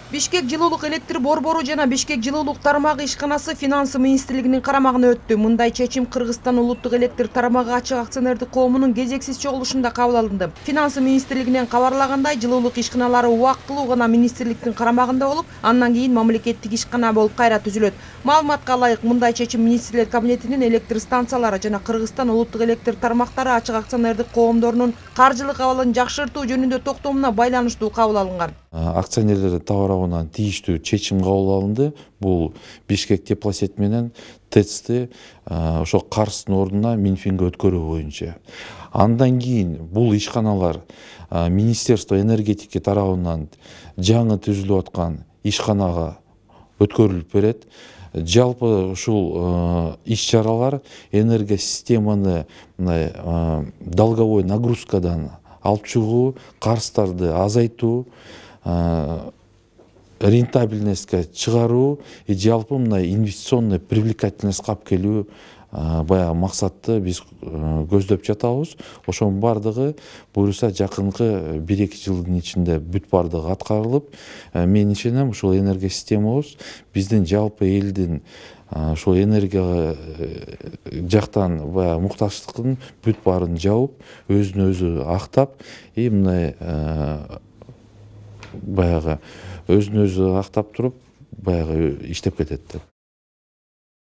Бишкек жылуулук электр борбору жана Бишкек жылуулук тармагы ишканасы Финансы министрлигинин карамагына өттү. Мындай чечим Кыргызстан улуттук электр тармагы ачык акционердик коомунун кезексиз чогулушунда кабыл алынды. Финансы министрлигинен кабарлагандай, жылуулук ишканалары убактылуу гана министрликтин карамагында болуп, андан кийин мамлекеттик ишкана болуп кайра түзүлөт. Маалыматка ылайык, мындай чечим министрлер кабинетинин электр станциялары жана Кыргызстан улуттук электр тармактары ачык акционердик коомдорунун каржылык абалын жакшыртуу жөнүндө токтомуна байланыштуу кабыл алынган. Акционерлердин тарабынан тийиштүү чечим кабыл алынды. Бул Бишкек теплосет менен ТЭЦти ошо Карстын ордуна Минфинге өткөрүү боюнча. Андан кийин бул ишканалар Министерство энергетики тарабынан жаңы түзүлүп аткан ишканага өткөрүлүп берет. Жалпы ушул иш-чаралар энергосистеманы долговой нагрузкадан алып чыгуу, карыздарды азайтуу, рентабельностька чыгаруу, жалпы мындай инвестиционный привлекательность алып келүү баягы максатты биз көздөп жатабыз. Ошонун бардыгы буюрса жакынкы 1-2 жылдын ичинде бүт бардыгы аткарылып, мен ишенем ушул энергосистемабыз биздин жалпы элдин ушул энергияга жактан баягы муктаждыктын бүт баарын жабып, өзүн өзү актап, мындай баягы өзүн өзү актап туруп баягы иштеп кетет деп.